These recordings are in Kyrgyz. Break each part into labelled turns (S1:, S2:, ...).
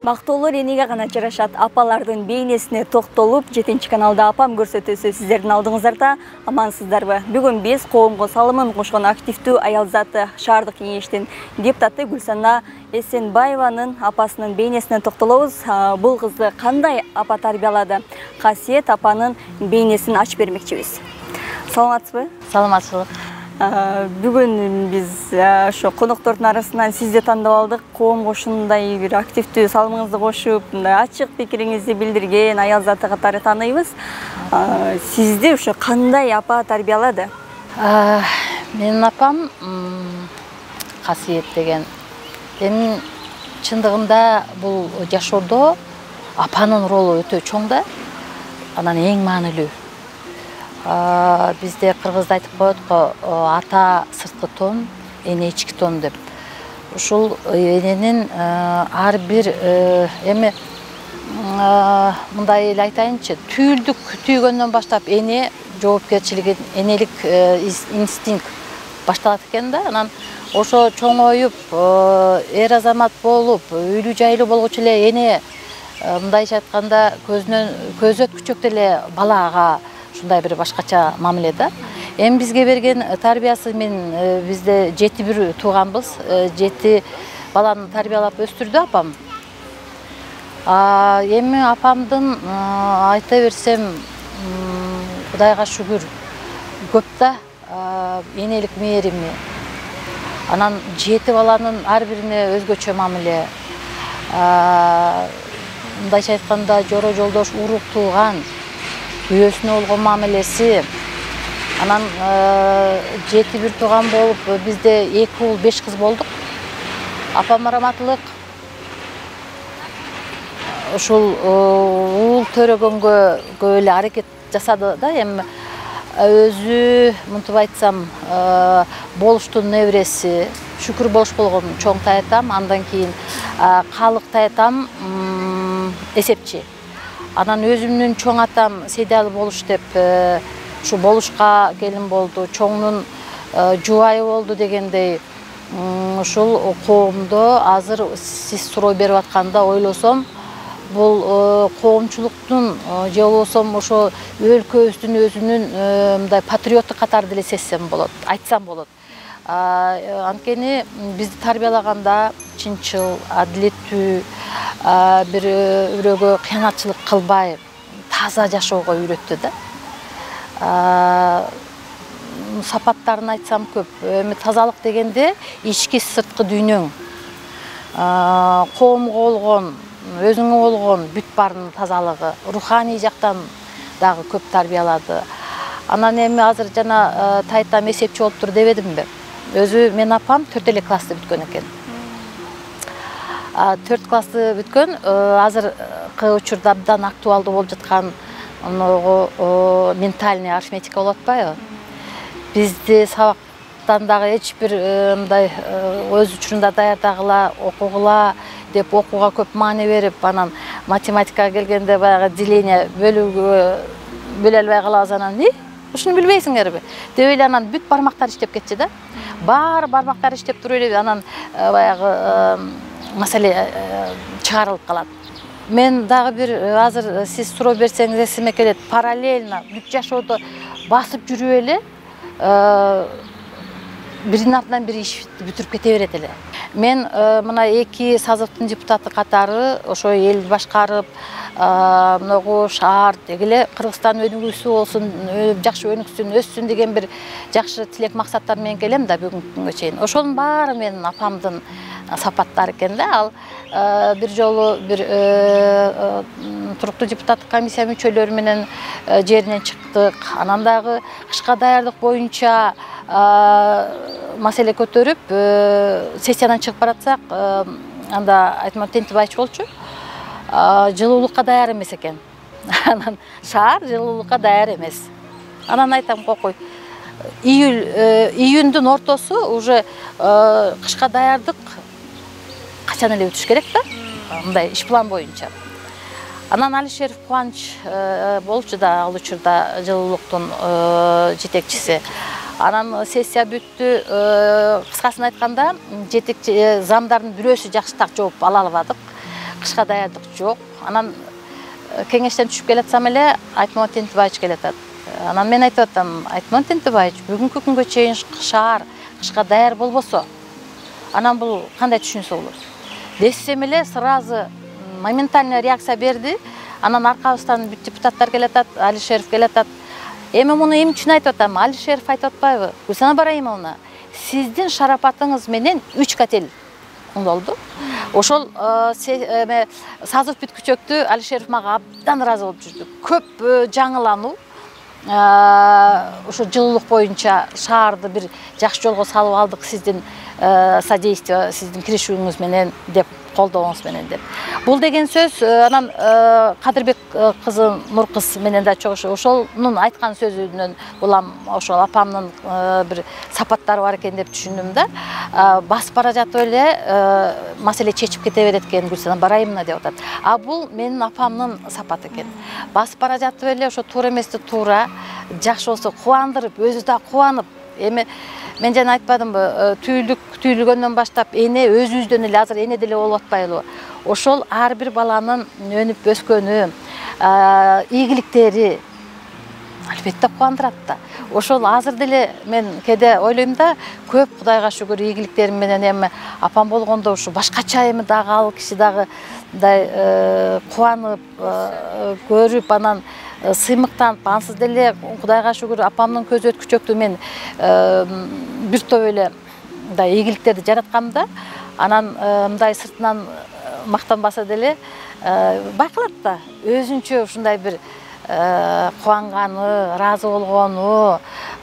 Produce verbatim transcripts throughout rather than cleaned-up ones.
S1: Бактылуулар энеге гана жарашат. Апалардын бейнесине токтолуп, жетинчи каналда апам көрсөтүүсү сиздердин алдыңыздарда. Амансыздарбы? Бүгүн биз коомго салымын кошкон активдүү аял заты шаардык кеңештин депутаты Гүлсана Эсенбаеванын апасынын бейнесине токтолобуз. Бул кызды кандай апа тарбиялады? Касиет апанын бейнесин ачып бермекчибиз. Саламатсызбы?
S2: Саламатсызбы.
S1: Бүгүн биз ошо коноктордун арасынан сизди тандап алдык. Коомго ушундай бир активдүү салымыңызды кошуп, мындай ачык пикириңизди билдирген аял заты катары тааныйбыз. Сизди ошо кандай апа тарбиялады?
S2: Менин апам Касиет деген. Эми чындыгында бул жашоодо апанын ролу өтө чоң да, анан эң маанилүү. Бизде кыргызда айтып коет го, ата сырткы тон, эне ички тон деп. Ушул эненин ар бир эми мындай эле айтайынчы, түйүлдүк түйгөндөн баштап эне жоопкерчилиги, энелик инстинкт башталат экен да. Анан ошо чоңоюп, эр азамат болуп, үйлүү жайлуу болгучу эле эне мындайча айтканда көзүнөн көз өткүчөк деле балага ушундай бир башкача мамиле да. Эми бизге берген тарбиясы, мен бизде жети бир тууганбыз, жети баланы тарбиялап өстүрдү апам. Эми апамдын айта берсем, Кудайга шүгүр, көп да энелик мээрими. Анан жети баланын ар бирине өзгөчө мамиле. Мындайча айтканда жоро жолдош, урук тууган, күйөөсүнө болгон мамилеси. Анан жети бир тууган болуп, бизде эки уул беш кыз болдук. Апам раматылык ушул уул төрөгөнгө көп эле аракет жасады да. Эми өзү мынтип айтсам, болуштун небереси, шүкүр болуш болгон чоң таятам, андан кийин калык таятам эсепчи. Анан өзүмдүн чоң атам Сейдалы болуш деп, ушу болушка келин болду, чоңнун жубайы болду дегендей. Ушул коомдо азыр сиз суроо берип атканда ойлосом, бул коомчулуктун же болбосо ошо өлкөбүздүн өзүнүн мындай патриотту катары деле сезсем болот, айтсам болот. Анткени бизди тарбиялаганда чынчыл, адилеттүү, бир бирөөгө кыянатчылык кылбай, таза жашоого үйрөттү да. Сапаттарын айтсам көп. Эми тазалык дегенде ички сырткы дүйнөң, коомго болгон, өзүңө болгон бүт баарынын тазалыгы, руханий жактан дагы көп тарбиялады. Анан эми азыр жана тайтам эсепчи болуптур дебедимби? Өзү менин апам төрт эле классты бүткөн экен. төрт классты бүткөн, азыркы учурда абдан актуалдуу болуп жаткан ментальный арифметика болуп атпайбы? Бизди сабактан дагы эч бир мындай өз учурунда даярдагыла, окугула деп окууга көп маани берип, анан математикага келгенде баягы деление бөлүүгө бөлө албай калабыз, анан ушуну билбейсиңерби деп эле анан бүт бармактар иштеп кетчү да. Баары бармактар иштеп туруп эле анан баягы маселе чыгарылып калат. Мен дагы бир азыр сиз суроо берсеңиз эсиме келет, параллельно бүт жашоодо басып жүрүп эле биринин артынан бири ишти бүтүрүп кете берет эле. Мен мына эки сазовдун депутаты катары ошо элди башкарып, многу шаар дегеле Кыргызстан өнүгүүсү болсун, жакшы өнүксүн, өссүн деген бир жакшы тилек максаттар менен келем да бүгүнкү күнгө чейин. Ошонун баары менин апамдын сапаттары экен да. Ал бир жолу бир туруктуу депутаттык комиссия мүчөлөрү менен жеринен чыктык. Анан дагы кышка даярдык боюнча маселе көтөрүп, сессиядан чыгып баратсак, анда Айтман Тентибаевич болчу, жылуулукка даяр эмес экен. Анан шаар жылуулукка даяр эмес. Анан айтам, кокой, июль июндун ортосу уже кышка даярдык качан эле бүтүш керек да, мындай иш план боюнча. Анан Алишеров Кубаныч болчу да ал учурда жылуулуктун жетекчиси. Анан сессия бүттү, кыскасын айтканда, жетекчи замдардын бирөөсү жакшы так жооп ала албадык. кышка даярдык жок. Анан кеңештен түшүп келатсам эле Айтмамат Тентибаевич келатат. Анан мен айтып атам, Айтмамат Тентибаевич, бүгүнкү күнгө чейин шаар кышка даяр болбосо, анан бул кандай түшүнсө болот? Десем эле сразу моментально реакция берди. Анан аркабыздан бүт депутаттар келатат, Алишеров келатат. Эми муну эмне үчүн айтып атам? Алишеров айтып атпайбы? Гүлсана Барайымовна, сиздин шарапатыңыз менен үч котел болду. Ошол сазов бүткүчөктү Алишеров мага абдан ыраазы болуп жүрдү. Көп жаңылануу, ошо жылуулук боюнча шаарды бир жакшы жолго салып алдык сиздин содействие, сиздин киришүүңүз менен деп, колдооңуз менен деп. Бул деген сөз анан Кадырбек кызы Нуркыз менен да чогуу ошонун айткан сөзүнөн улам ошол апамдын бир сапаттары бар экен деп түшүндүм да. Басып бара жатып эле маселе чечип кете берет экен Гүлсана Барайымовна деп атат. А бул менин апамдын сапаты экен. Басып бара жатып эле ошо туура эмести туура, жакшы болсо кубандырып, өзү да кубанып, эми мен жана айтпадымбы, түйүлдүк түйүлгөндөн баштап эне өзүбүздөн эле азыр эне деле болуп атпайлыбы? Ошол ар бир баланын өнүп өскөнү, ийгиликтери албетте кубандырат да. Ошол азыр деле мен кээде ойлойм да, көп Кудайга шүгүр ийгиликтерим менен эми апам болгондо ушу башкача эми дагы ал киши дагы мындай кубанып, көрүп, анан сыймыктанып, ансыз деле Кудайга шүгүр апамдын көз өткүчөктү мен бир топ эле мындай ийгиликтерди жараткам да. Анан мындай сыртынан мактанбаса деле байкалат да, өзүнчө ушундай бир кубанганы, ыраазы болгону,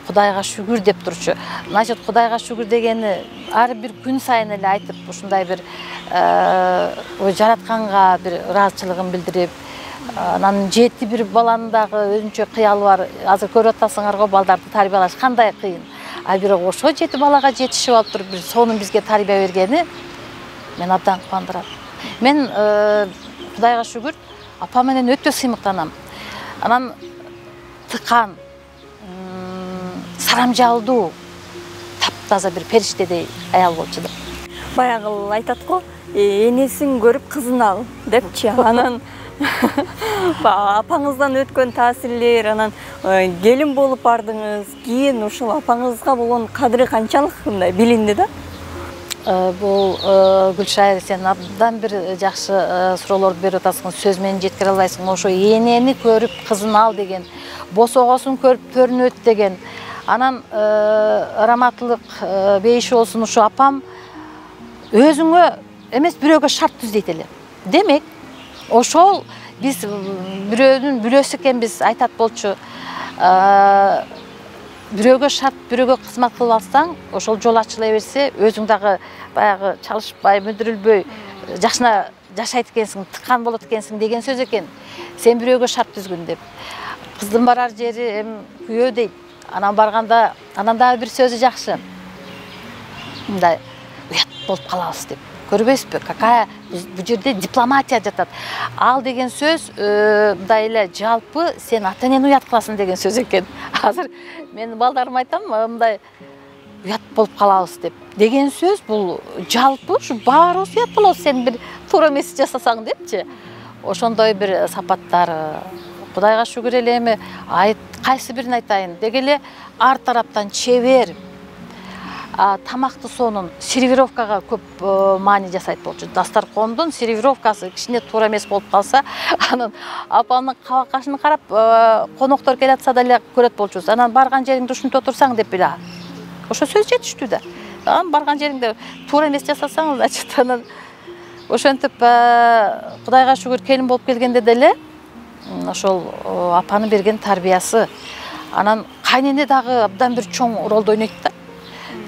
S2: Кудайга шүгүр деп турчу. Значит, Кудайга шүгүр дегени ар бир күн сайын эле айтып, ушундай бир жаратканга бир ыраазычылыгын билдирип, анан жети бир баланын дагы өзүнчө кыялы бар. Азыр көрүп атасыңар го, балдарды тарбиялаш кандай кыйын. А бирок ошо жети балага жетишип алып туруп, бир сонун бизге тарбия бергени мен абдан кубандырат. Мен Кудайга шүгүр апам менен өтө сыймыктанам. Анан тыкан, сарамжалдуу, таптаза бир периштедей аял болчу да.
S1: Баягы айтат го, энесин көрүп кызын ал депчи. Анан апаңыздан өткөн таасирлер, анан келин болуп бардыңыз, кийин ушул апаңызга болгон кадыры канчалык мындай билинди да?
S2: Бул Гүлшайыр, сен абдан бир жакшы суроолорду берип атасың, сөз менен жеткире албайсың. Ошо энени көрүп кызын ал деген, босогосун көрүп төрүнөт деген. Анан раматылык бейиши болсун, ушу апам өзүңө эмес бирөөгө шарт түз дейт эле. Демек, ошол биз бирөөнүн бүлөсү экенбиз айтат болчу. Бирөөгө шарт, бирөөгө кызмат кылып алсаң, ошол жол ачыла берсе, өзүң дагы баягы чалышпай, мүдүрүлбөй, жакшына жашайт экенсиң, тыккан болот экенсиң деген сөз экен. Сен бирөөгө шарт түзгүн деп. Кыздын барар жери эми күйөө дейт. Анан барганда, анан дагы бир сөзү жакшы. Мындай уят болуп калабыз деп. Көрбөйсүзбү? Какая бул жерде дипломатия жатат. Ал деген сөз мындай эле жалпы сен ата-энени уят кыласың деген сөз экен. Азыр мен балдарыма айтам, мындай уят болуп калабыз деп. Деген сөз бул жалпы ушу баарыбыз уят болобуз сен бир туура эмес жасасаң депчи. Ошондой бир сапаттары. Кудайга шүгүр эле эми кайсы бирин айтайын. Деги эле ар тараптан чебер. Тамакты сонун сервировкага көп маани жасайт болчу. Дастаркондун сервировкасы кичине туура эмес болуп калса, анан апамдын кабак кашын карап, коноктор келатса деле көрөт болчубуз. Анан барган жериңде ушинтип отурсаң деп биле. Ошо сөз жетиштүү да. Анан барган жериңде туура эмес жасасаң, значит, анан ошентип Кудайга шүгүр келин болуп келгенде деле ошол апанын берген тарбиясы. Анан кайнене дагы абдан бир чоң ролду ойнойт да.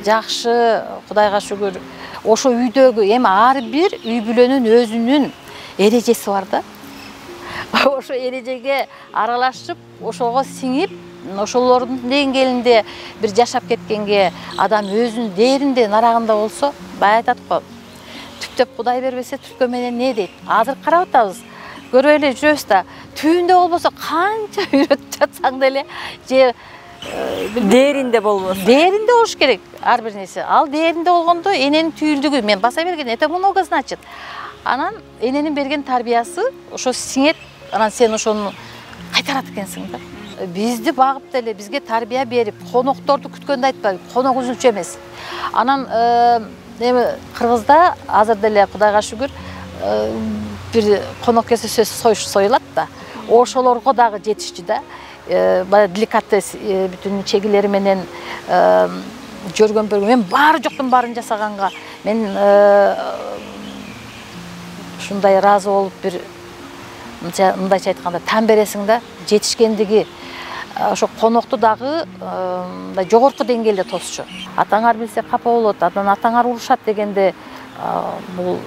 S2: Жакшы, Кудайга шүгүр. Ошо үйдөгү эми ар бир үй бүлөнүн өзүнүн эрежеси бар да. Ошо эрежеге аралашып, ошого сиңип, ошолордун деңгээлинде бир жашап кеткенге адам өзүнүн дээринде, нарагында болсо, бай айтат го. Түптөп Кудай бербесе, түлкө менен не дейт? Азыр карап атабыз. Көрөй эле жүрөбүз да. Түбүндө болбосо канча үйрөтүп жатсаң деле, же
S1: дээринде болбосо.
S2: Дээринде болуш керек ар бир нерсе. Ал дээринде болгондо эненин түйүлдүгү мен баса берген, это много значит. Анан эненин берген тарбиясы ошо сиңет, анан сен ошону кайтарат экенсиң да. Бизди багып деле бизге тарбия берип, конокторду күткөндү айтпайбы, конок үзүнчө эмес. Анан эми Кыргызда азыр деле Кудайга шүгүр бир конок келсе сөз союлат да. Ошолорго дагы жетишчү да. Баягы деликатес бүтүн чегилери менен жөргөн бөлгөн. Мен баары жоктун баарын жасаганга мен ушундай ыраазы болуп бир мындайча айтканда тан бересиң да, жетишкендиги ошо конокту дагы мындай жогорку деңгээлде тосчу. Атаңар билсе капа болот, анан атаңар урушат дегенде бул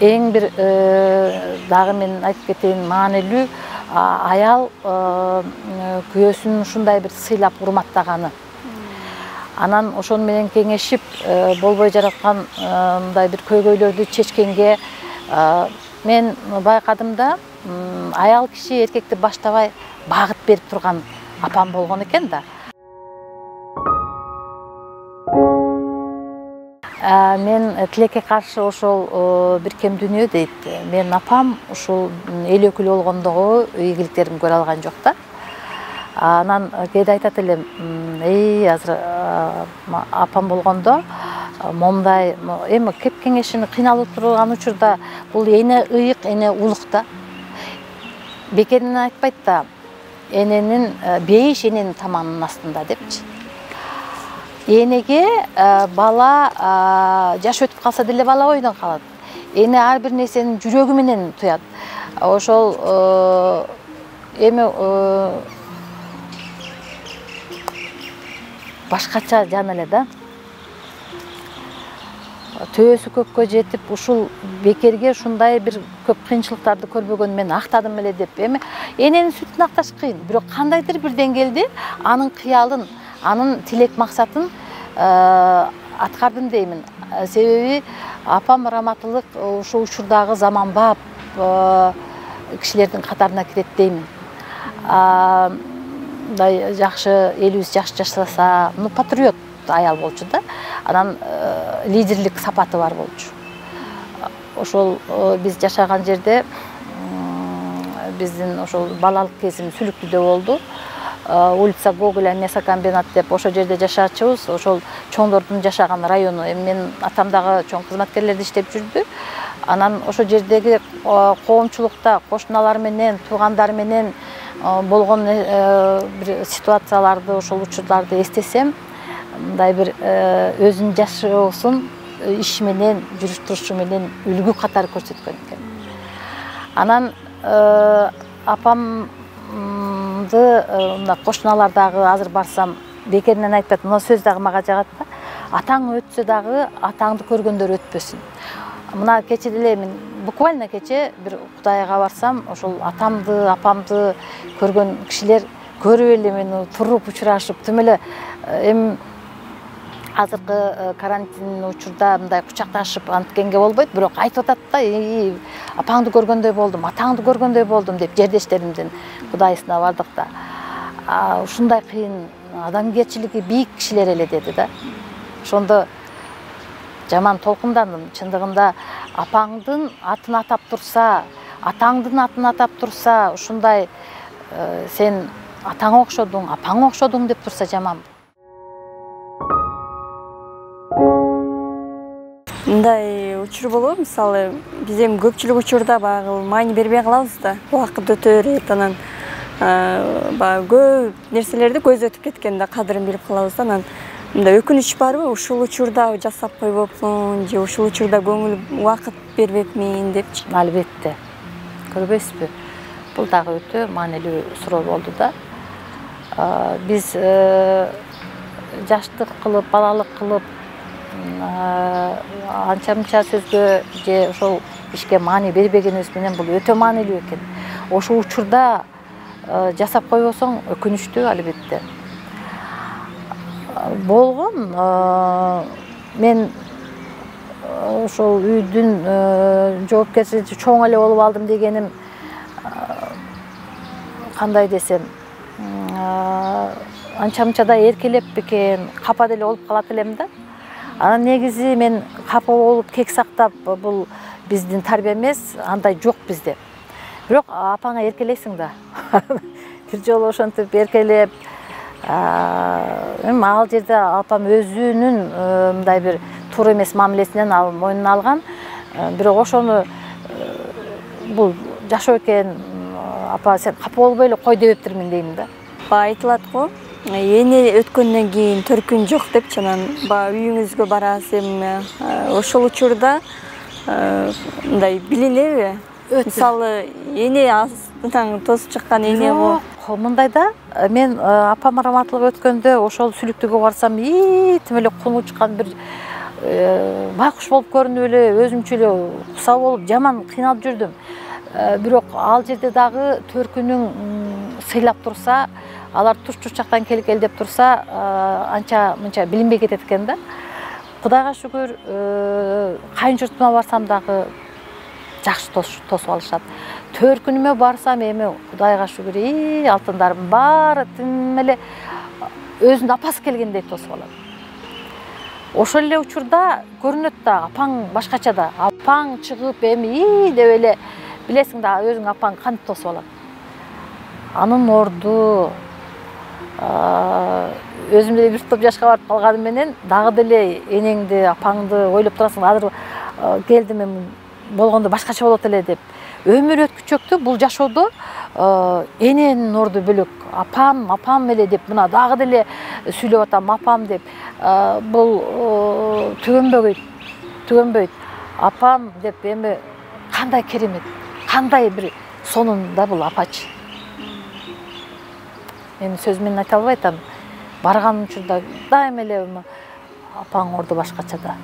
S2: эң бир дагы мен айтып кетейин маанилүү аял күйөөсүн ушундай бир сыйлап урматтаганы. Анан ошону менен кеңешип болбой жараткан мындай бир көйгөйлөрдү чечкенге мен байкадым да, аял киши эркекти баштабай багыт берип турган апам болгон экен да. Мен тилекке каршы ошол бир кем дүнүйө дейт. Мен апам ушул эл өкүлү болгондогу ийгиликтерин көрө алган жок да. Анан кээде айтат элем, эй азыр апам болгондо момундай эми кеп кеңешини кыйналып турган учурда бул эне ыйык, эне улук да. Бекеринен айтпайт да, эненин бейиш эненин таманынын астында депчи. Энеге бала жаш өтүп калса деле бала ойдон калат. Эне ар бир нерсени жүрөгү менен туят. Ошол эми башкача жан эле да. Төбөсү көккө жетип, ушул бекерге ушундай бир көп кыйынчылыктарды көрбөгөн мен актадым эле деп. Эми эненин сүтүн акташ кыйын, бирок кандайдыр бир деңгээлде анын кыялын, анын тилек максатын аткардым деймин. Себеби апам раматылык ушул учурдагы заманбап кишилердин катарына кирет деймин. Мындай жакшы элибиз жакшы жашаса, ну патриот аял болчу да. Анан лидерлик сапаты бар болчу. Ошол биз жашаган жерде биздин ошол балалык кезим Сүлүктүдө болду. Улица Гоголя мясокомбинат деп ошол жерде жашачубуз. Ошол чоңдордун жашаган району. Эми мен атам дагы чоң кызматкерлерде иштеп жүрдү. Анан ошол жердеги коомчулукта кошуналар менен, туугандар менен болгон бир ситуацияларды, ошол учурларды эстесем, мындай бир өзүнүн жашоосун иш менен, жүрүш турушу менен үлгү катары көрсөткөн экен. Анан апамды мына кошуналар дагы азыр барсам бекеринен айтпайт, мына сөз дагы мага жагат да. Атаң өтсө дагы атаңды көргөндөр өтпөсүн. Мына кече деле мен буквально кече бир Кудайга барсам, ошол атамды, апамды көргөн кишилер көрүп эле мени туруп учурашып, тим эле эми азыркы карантин учурда мындай кучакташып анткенге болбойт, бирок айтып атат да, апаңды көргөндөй болдум, атаңды көргөндөй болдум деп жердештеримдин кудайысына бардык да. Ушундай кыйын, адамгерчилиги бийик кишилер эле деди да. Ошондо жаман толкундандым. Чындыгында апаңдын атын атап турса, атаңдын атын атап турса, ушундай сен атаңа окшодуң, апаңа окшодуң деп турса жаман.
S1: Мындай учур болобу, мисалы, биз эми көпчүлүк учурда багы маани бербей калабыз да. Убакыт өтө берет, анан баягы көп нерселерди көз өтүп кеткенде кадырын билип калабыз да. Анан мындай өкүнүч барбы, ушул учурда жасап койбопмун же ушул учурда көңүл убакыт бербепмин депчи?
S2: Албетте. Көрбөйсүзбү? Бул дагы өтө маанилүү суроо болду да. Биз жаштык кылып, балалык кылып, анча-мынча сөзгө же ошол ишке маани бербегенибиз менен бул өтө маанилүү экен. Ошол учурда жасап койбосоң өкүнүчтүү албетте. Болгон мен ошол үйдүн жоопкерчилиги чоң эле болуп алдым дегеним кандай десем, анча-мынча да эркелеп бекен, капа деле болуп калат элем да. Анан негизи мен капа болуп, кек сактап, бул биздин тарбия эмес, андай жок bizde. Бирок апаңа эркелейсиң да. Бир жолу ошентип эркелеп, эми ал жерде апам өзүнүн мындай бир туура эмес мамилесинен ал мойнуна алган. Бирок ошону бул жашоо экен, апа сен капа болбой эле кой депептирмин дейм да.
S1: Баягы айтылат го, эне өткөндөн кийин төркүн жок депчи, анан баягы үйүңүзгө барасыз, эми ошол учурда мындай билелеби? Мисалы, эне астынан тосуп чыккан эне го.
S2: Мындай да, мен апам раматлык өткөндө ошол сүлүктүгө барсам, и тим эле куну чыккан бир байкуш болуп көрүнүп эле, өзүмчө эле куса болуп, жаман кыйналып жүрдүм. Бирок ал жерде дагы төркүнүң сыйлап турса, алар туш жактан келгел деп турса, анча мынча билинбей кетет экен да. Кудайга шүгүр, кайын журтума барсам дагы жакшы тосуп алышат. Төркүнүмө барсам эми Кудайга шүгүр, и алтындарым баары тим эле өзүнүн апасы келгендей тосуп алат. Ошол эле учурда көрүнөт да, апаң башкача да. Апаң чыгып эми и деп эле билесиң да, өзүң апаң кантип тосуп алат. Анын орду өзүм деле бир топ жашка барып калганым менен дагы деле энеңди, апаңды ойлоп турасың, азыр келдим эми болгондо башкача болот эле деп. Өмүр өткүчөктү бул жашоодо эненин орду бөлөк. Апам, апам эле деп, мына дагы деле сүйлөп атам, апам деп. Бул түгөнбөйт, түгөнбөйт. Апам деп эми кандай керемет, кандай бир сонунда бул апачы. Мен сөз менен айта албай атам. Барган учурда дайым эле апаң орду башкача да.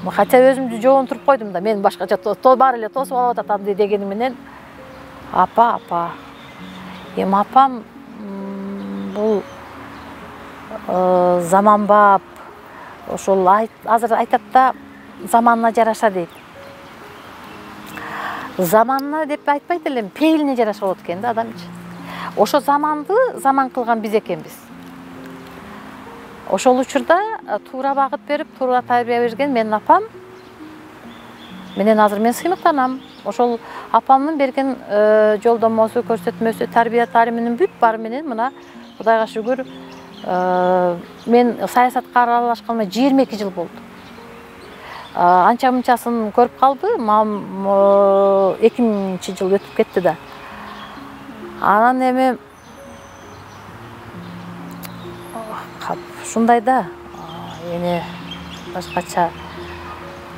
S2: Хотя өзүмдү жоонтуруп койдум да, мен башкача баары эле тосуп алып атат андай дегени менен. Апа, апа. Эми апам бул заманбап, ошол азыр айтат да, заманына жараша дейт. Заманына деп айтпайт элем, пейилине жараша болот экен да адамчы. Ошо заманды заман кылган биз экенбиз. Ошол учурда туура багыт берип, туура тарбия берген менин апам менен азыр мен сыймыктанам. Ошол апамдын берген жолдомосу, көрсөтмөсү, тарбия таалиминин бүт баары менен мына Кудайга шүгүр, мен саясатка аралашканыма жыйырма эки жыл болду. Анча мынчасын көрүп калды, эки миңинчи жыл өтүп кетти да. Анан эми ушундай да, эне башкача.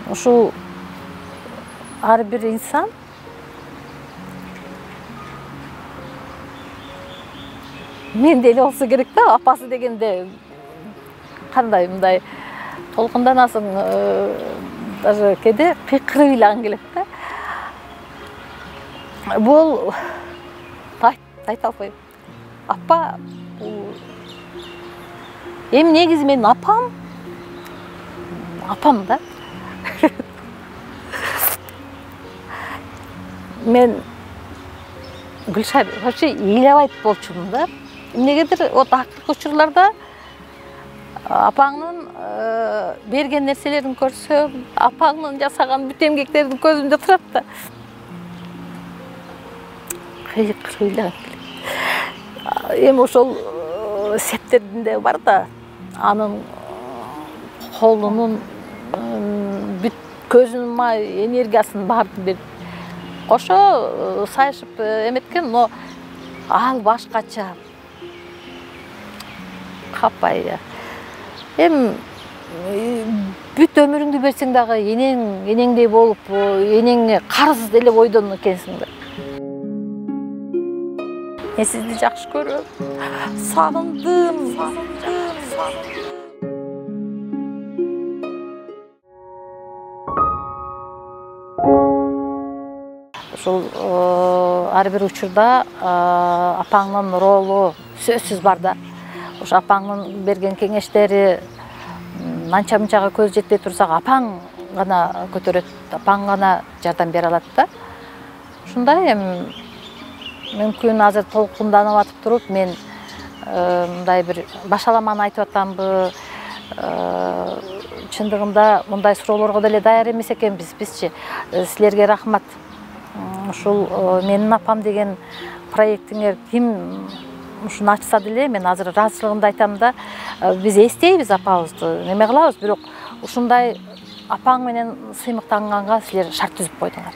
S2: Ушул ар бир инсан мен деле болсо керек да, апасы дегенде кандай мындай толкунданасың, даже кээде кыйкырып ыйлагың келет да. Бул айта албайм. Апа бул эми негизи менин апам, апам да. Мен Гүлшар вообще ыйлабайт болчумун да. Эмнегедир вот акыркы учурларда апаңдын берген нерселерин көрсөм, апаңдын жасаган бүт эмгектерин көзүмдө турат да. Кыйкырып ыйлагым келет. Эми ошол септердин де бар да, анын колунун бүт көзүнүн май энергиясын баарын берип кошо сайышып эметкен, но ал башкача. Капай. Эми бүт өмүрүңдү берсең дагы энең, энеңдей болуп, энеңе карыз деле бойдон экенсиң да. Мен сизди жакшы көрөм. Сагындым, сагындым, сагындым. Ошол ар бир учурда апаңдын ролу сөзсүз бар да. Ошо апаңдын берген кеңештери анча мынчага көз жетпей турсак, апаң гана көтөрөт, апаң гана жардам бере алат да. Ушундай эми мүмкүн азыр толкунданып атып туруп мен мындай бир башаламаны айтып атамбы, чындыгында мындай суроолорго деле даяр эмес экенбиз бизчи. Силерге рахмат. Ушул менин апам деген проектиңер ким ушуну ачса деле мен азыр ыраазычылыгымды айтам да. Биз эстейбиз апабызды, неме кылабыз, бирок ушундай апаң менен сыймыктанганга силер шарт түзүп койдуңар.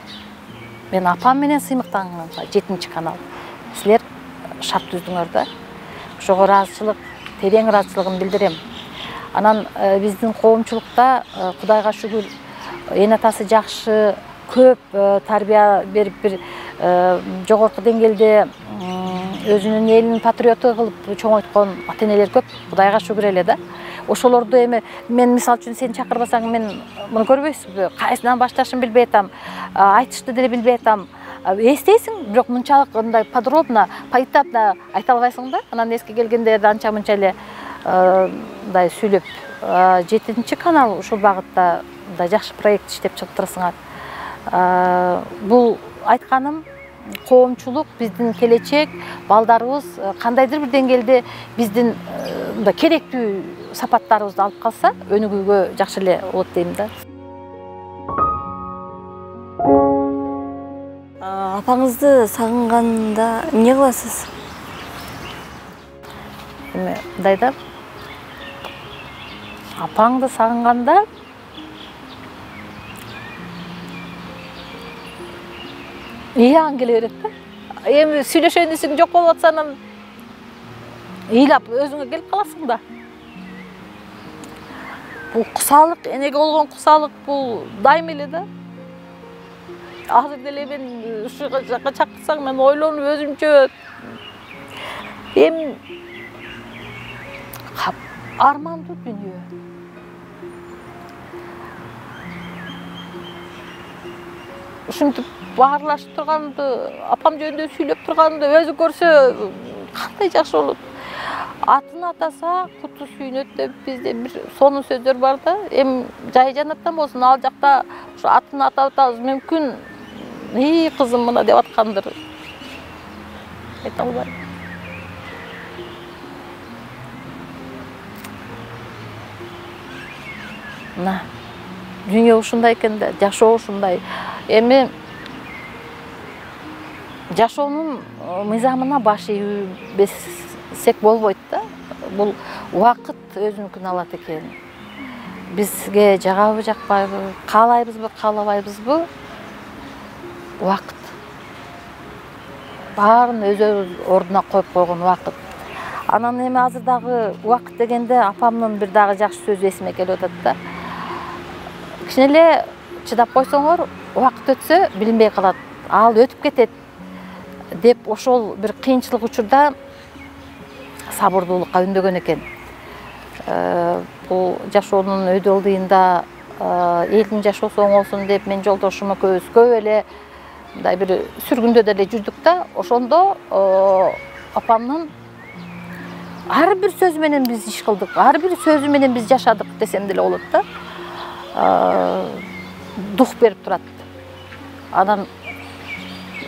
S2: Мен апам менен сыймыктанганга жетинчи канал силер шарт түздүңөр да. Ошого ыраазычылык, терең ыраазычылыгымды билдирем. Анан биздин коомчулукта Кудайга шүгүр эне атасы жакшы, көп тарбия берип бир жогорку деңгээлде өзүнүн элинин патриоту кылып чоңойткон ата-энелер көп, Кудайга шүгүр эле да. Ошолорду эми мен мисал үчүн сени чакырбасаң мен муну көрбөйсүзбү? Кайсынан башташымды билбей атам, айтышты деле билбей атам. Эстейсиң, бирок мынчалык мындай подробно, поэтапно айта албайсың да. Анан эске келгенде анча-мынча эле мындай сүйлөп, жетинчи канал ушул багытта мындай жакшы проект иштеп чыгып турасыңар. Бул айтканым коомчулук, биздин келечек, балдарыбыз кандайдыр бир деңгээлде биздин мындай керектүү сапаттарыбызды алып калса, өнүгүүгө жакшы эле болот дейм да.
S1: Апаңызды сагынганда эмне кыласыз?
S2: Эми мындай да, апаңды сагынганда ыяң келе берет да. Эми сүйлөшөйүн десең жок болуп атса, анан ыйлап өзүңө келип каласың да. Бул кусалык, энеге болгон кусалык бул дайым эле да. Азыр деле мен ушу жакка чакырсаң мен ойлонуп өзүмчө эми армандуу дүнүйө. Ушинтип баарлашып турганымды, апам жөнүндө сүйлөп турганымды өзү көрсө кандай жакшы болот. Атын атаса куту сүйүнөт деп бизде бир сонун сөздөр бар да. Эми жай жанаттан болсун, ал жакта ушу атын атап атабыз, мүмкүн ий кызым мына деп аткандыр. Айта албайм. Мына дүйнө ушундай экен да, жашоо ушундай. Эми жашоонун мыйзамына баш ийбесек болбойт да. Бул убакыт өзүнүкүн алат экен. Бизге жагабы, жакпайбы, каалайбызбы, каалабайбызбы? Убакыт. Баарын өз ордуна коюп койгон убакыт. Анан эми азыр дагы убакыт дегенде апамдын бир дагы жакшы сөзү эсиме келип атат да. Кичине эле чыдап койсоңор, убакыт өтсө билинбей калат. Ал өтүп кетет деп ошол бир кыйынчылык учурда сабырдуулукка үндөгөн экен. Бул жашоонун өйдө ылдыйында элдин жашоосу оңолсун деп мен жолдошум экөөбүз көп эле мындай бир сүргүндө деле жүрдүк да. Ошондо апамдын ар бир сөзү менен биз иш кылдык, ар бир сөзү менен биз жашадык десем деле болот да. Дух берип турат. Анан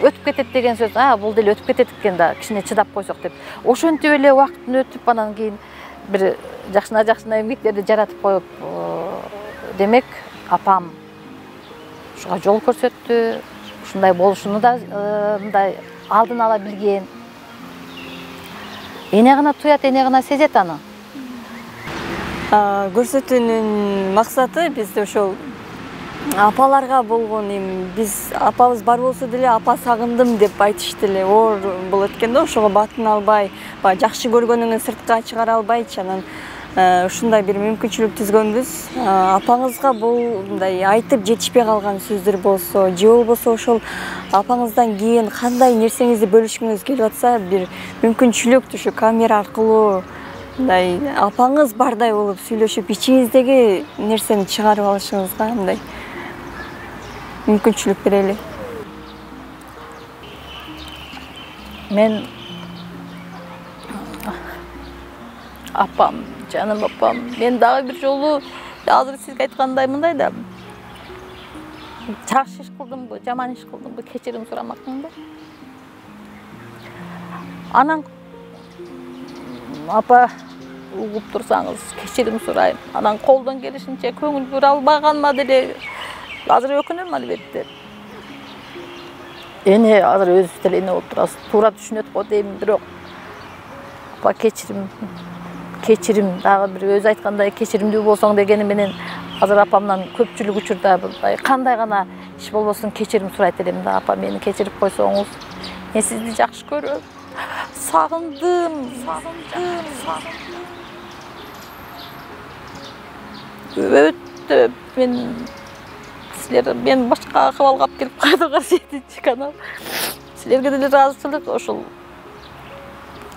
S2: өтүп кетет деген сөз, а бул деле өтүп кетет экен да, кичине чыдап койсок деп. Ошентип эле убакыттын өтүп, анан кийин бир жакшына-жакшына эмгектерди жаратып коюп, демек апам ушуга жол көрсөттү, ушундай болушуну да мындай алдын ала билген. Эне гана туят, эне гана сезет аны.
S1: Көрсөтүүнүн максаты бизде ошол апаларга болгон эми биз апабыз бар болсо деле апа сагындым деп айтыш деле оор болот экен да. Ошого батын албай, баягы жакшы көргөнүңү сыртка чыгара албайчы. Анан ушундай бир мүмкүнчүлүк түзгөнбүз. Апаңызга бул мындай айтып жетишпей калган сөздөр болсо, же болбосо ошол апаңыздан кийин кандай нерсеңизди бөлүшкүңүз келип атса, бир мүмкүнчүлүк ушу камера аркылуу мындай апаңыз бардай болуп сүйлөшүп, ичиңиздеги нерсени чыгарып алышыңызга мындай мүмкүнчүлүк берели.
S2: Мен апам, жаным апам, мен дагы бир жолу азыр сизге айткандай мындай да, жакшы иш кылдымбы, жаман иш кылдымбы, кечирим сурамакмын да. Анан апа угуп турсаңыз кечирим сурайм. Анан колдон келишинче көңүл бура албаганыма деле азыр өкүнөм албетте. Эне азыр өзүбүз деле эне болуп турабыз. Туура түшүнөт го дейм, бирок апа кечирим, кечирим, дагы бир өзү айткандай кечиримдүү болсоң дегени менен азыр апамдан көпчүлүк учурда кандай гана иш болбосун кечирим сурайт элем да. Апа мени кечирип койсоңуз, мен сизди жакшы көрөм. Сагындым, сагындым, сагындым. Өтө мен силер мен башка акыбалга алып келип кайдыгар жетинчи канал. Силерге деле ыраазычылык ошол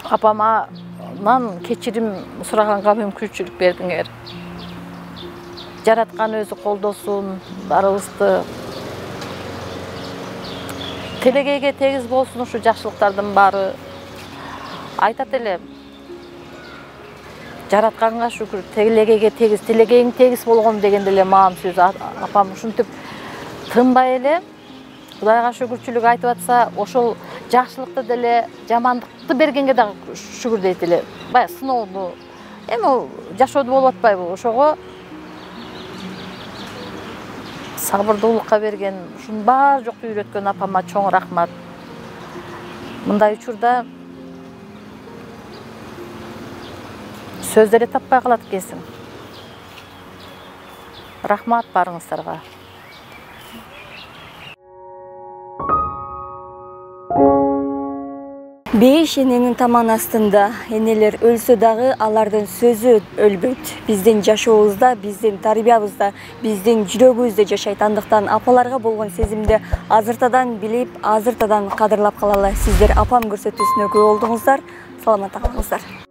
S2: апаман кечирим сураганга мүмкүнчүлүк бердиңер. Жараткан өзү колдосун барыбызды. Телегейге тегиз болсун ушу жакшылыктардын баары. Айтат элем. Жаратканга шүкүр, телегейге тегиз, телегейиң тегиз болгон деген деле маам сөз. Апам ушинтип тынбай эле Кудайга шүкүрчүлүк айтып атса, ошол жакшылыкты деле, жамандыкты бергенге дагы шүкүр дейт эле. Баягы сыноону, эми жашоодо болуп атпайбы? Ошого сабырдуулукка берген, ушунун баары жокту үйрөткөн апама чоң рахмат. Мындай учурда сөз деле таппай калат экенсиң. Рахмат барыңыздарга.
S1: Бейиш эненин таман астында энелер өлсө дагы алардын сөзү өлбөйт. Биздин жашообузда, биздин тарбиябызда, биздин жүрөгүбүздө жашайт. Андыктан апаларга болгон сезимди азыртадан билип, азыртадан кадырлап калалы. Сиздер апам көрсөтүүсүнө күбө болдуңуздар. Саламатта калыңыздар.